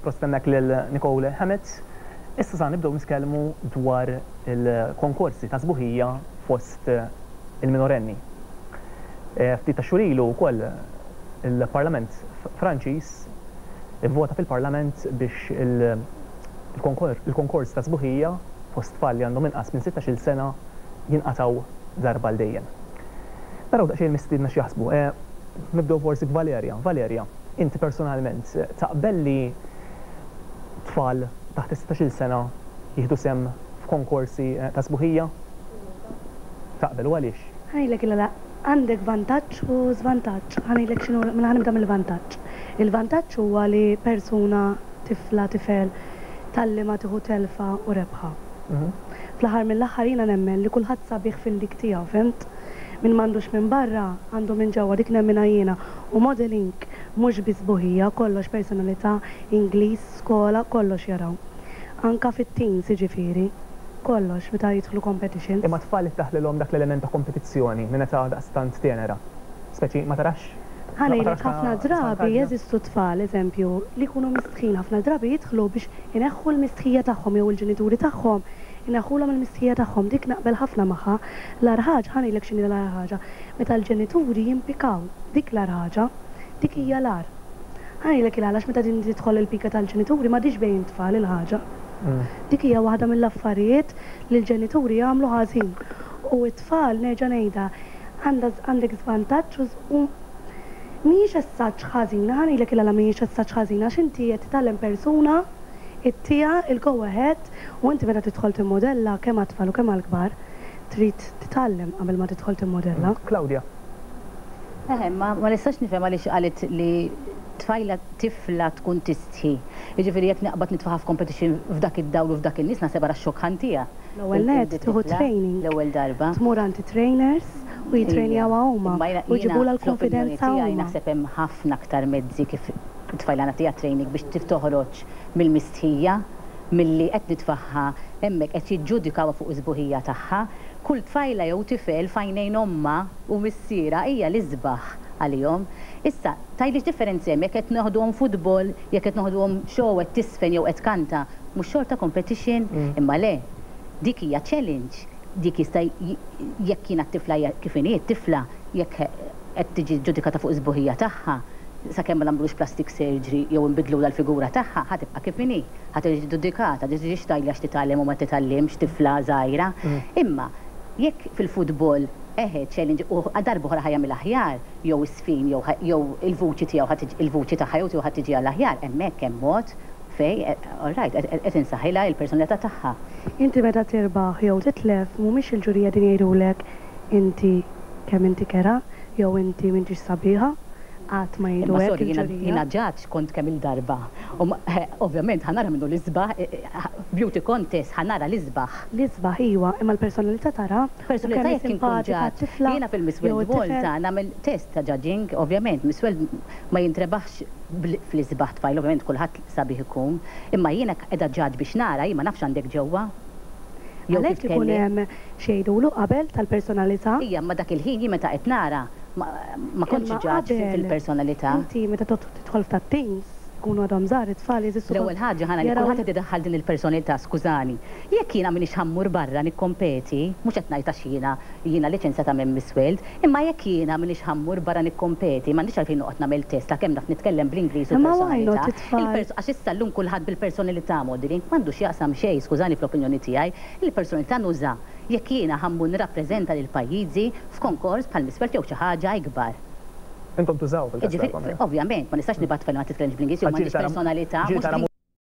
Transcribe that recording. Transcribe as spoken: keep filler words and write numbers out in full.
Prosit hemmhekk lil Nicole Hammett. Issa sa nibdew nitkellmu dwar il-konkorsi ta' sbuħija fost il-minorenni. Eh, ftit ta' xhur ilu wkoll il-Parlament Franċiż ivvota fil-Parlament biex il-konkors ta' sbuħija fost tfal li għandhom inqas minn sittax-il sena jinqataw darba l dejjem. Naraw daqsxejn mistiedna x'jaħsbu. Eh, nibdew forsi b'Valeria. Valeria, inti personalment taqbel li tfal taħt sittax-il sena jieħdu sehem f'konkorsi eh, ta' sbuħija? Taqbel, u għaliex? Ħa ngħidlek il għandek vantaġġ u żvantaġġ. Ħa ngħidlek x'inhu, mela ħa nibda mill-vantaġġ. Il-vantaġġ huwa li persuna, tifla, tifel, talli ma tieħu telfa u rebħa. Mhm. Fl-aħħar mill-aħħar jiena nemmen li kulħadd sabiħ fil-dik tiegħu, fhimt? Min m'għandux minn barra, għandu minn ġewwa, dik nemminha jiena. U modeling mhux biss sbuħija, kollox, personalità, Ingliż, skola, kollox jaraw. Anka fit-teens, jiġifieri, kollox meta jidħlu competitions. Imma tfal iddaħħlilhom dak l-element ta' kompetizzjoni minn età daqstant tenera. Speċi ma tarax? Ħa ngħidlek, ħafna drabi jeżistu tfal, eżempju, li jkunu mistħin, ħafna drabi jidħlu biex ineħħu l-mistħija tagħhom jew il-ġenituri tagħhom ineħħulhom il-mistħija tagħhom, dik naqbel ħafna magħha. L-agħar ħaġa, ħa ngħidlek x'inhi l-agħar ħaġa, meta l-ġenituri jimpikaw, dik l-agħar ħaġa, dik hija l-agħar. Ħa ngħidlek il għalax meta din tidħol il-pika tal-ġenituri m'għadix bejn tfal il-ħaġa. Mm. Dik hija waħda mill-affarijiet li l-ġenituri jagħmlu ħażin. U t-tfal, nerġa' ngħidha, għandek żvantaġġ u mhijiex essaġġ ħażina, ħa ngħidlek il mhijiex essaġġ ħażina, għax inti qed titgħallem persuna ittija il-go ahead u inti meta tidħol timmodella, kemm għat-tfal u kemm għall-kbar, trid titgħallem qabel ma tidħol timmodella. Claudia. Eħe, ma, ma nistax nifhem għaliex qalet li tfajla, tifla tkun tistħi. Jiġifieri jekk naqbad nitfaħa f'competition f'dak id-dawl u f'dak in-nies, naħseb ara xokk ħa ntiha. L-ewwel net tieħu training. L-ewwel darba. Tmur għand trainers u jitrejnjawha huma Imma jiena- u jġibulha jiena fl-opinjoni l-konfidenza tiegħi huma. naħseb hemm ħafna aktar mezzi kif tfajla nagħtiha training biex tif toħroġ mill-mistħija milli qed nitfaħħa hemmhekk qed jiġġudikawha fuq is-sbuħija tagħha. Kull tfajla jew tifel f'għajnejn omma u missiera hija l-isbaħ għalihom. Issa, tgħidlix differenzi hemm jekk qed noħduhom futbol, jekk qed noħduhom show qed tisfen jew qed kanta, mhux xorta competition, imma le. Dik hija challenge. Dik jista' j- jekk jiena t-tifla hija kif inhi t-tifla, jekk qed tiġi ġudikata fuq is-sbuħija tagħha, sakemm ma nagħmlux plastic surgery jew nbidlu l-figura tagħha, ħa tibqa' kif inhi, ħa tiġi ġudikata, tiġi tgħidli għax titgħallem u ma titgħallimx tifla żgħira. Imma jekk fil-futbol eħe challenge u darba oħra ħa jagħmel aħjar jew isfin jew ħa- jew il-vuċi tiegħu ħa tiġi- il-vuċi tagħha jew tiegħu ħa tiġi għall aħjar, hemmhekk hemm mod fej, eh, all right, qed qed insaħħilha il-personalità tagħha. Inti meta tirbaħ jew titlef, mhumiex il-ġurija din jgħidulek inti kemm inti kerha jew inti m'intix sabiħa, qatt ma jgħidu Imma hekk sorry, jiena il-ġurija. Jiena judge kont kemm il-darba. U ma- eh, ovvjament ħa nara minnu l-isbaħ, eh, eh, beauty contest ħa nara l-isbaħ. L-isbaħ iwa, imma l-personalità tara u Personalità kemm hi jekk inkun simpatika judge. t-tifla Jiena fil-Miss jew World it-tifel. Malta nagħmel test ta' judging, ovvjament, Miss World ma jintrebaħx bl- fl-isbaħ tfajl, ovvjament kulħadd sabiħ ikun, imma jiena qiegħda judge biex nara, jien ma nafx għandek ġewwa. Jew kif Għalhekk ikun kelli. hemm x'jgħidulu qabel tal-personalità. Ija, ma dak il-ħin jien meta qed nara ma ma kontx Imma judge qabel, fil-personalità. Inti meta tidħol f'tat-teens, ikunu għadhom żgħar it-tfal, jeżistu L-ewwel ħaġa ħana li jaraw- kulħadd qed idaħħal din il-personalità, skużani. Jekk jiena m'iniex ħa mmur barra nikkompeti, mhux qed ngħid għax jiena jiena liċenzjata minn Miss World, imma jekk jiena m'iniex ħa mmur barra nikkompeti, m'għandix għalfejn noqgħod nagħmel test ta' kemm naf nitkellem bl-Ingliż u Imma why not personalità. it-tfal? Il-pers- Għax issa llum kulħadd bil-personalità modeling m'għandux jaqsam xejn, skużani, fl-opinjoni tiegħi, il-personalità nuża jekk jiena ħa mmur nirrappreżenta lil pajjiżi f'konkors bħal Miss World jew xi ħaġa ikbar. Intom tużaw fil-każ Ġifieri, tagħkom, eh? ovvjament, ma nistax nibgħat tfajla ma titkellimx bl-Ingliż jew Ġieli m'għandix tara- personalità. ġieli Mhux tara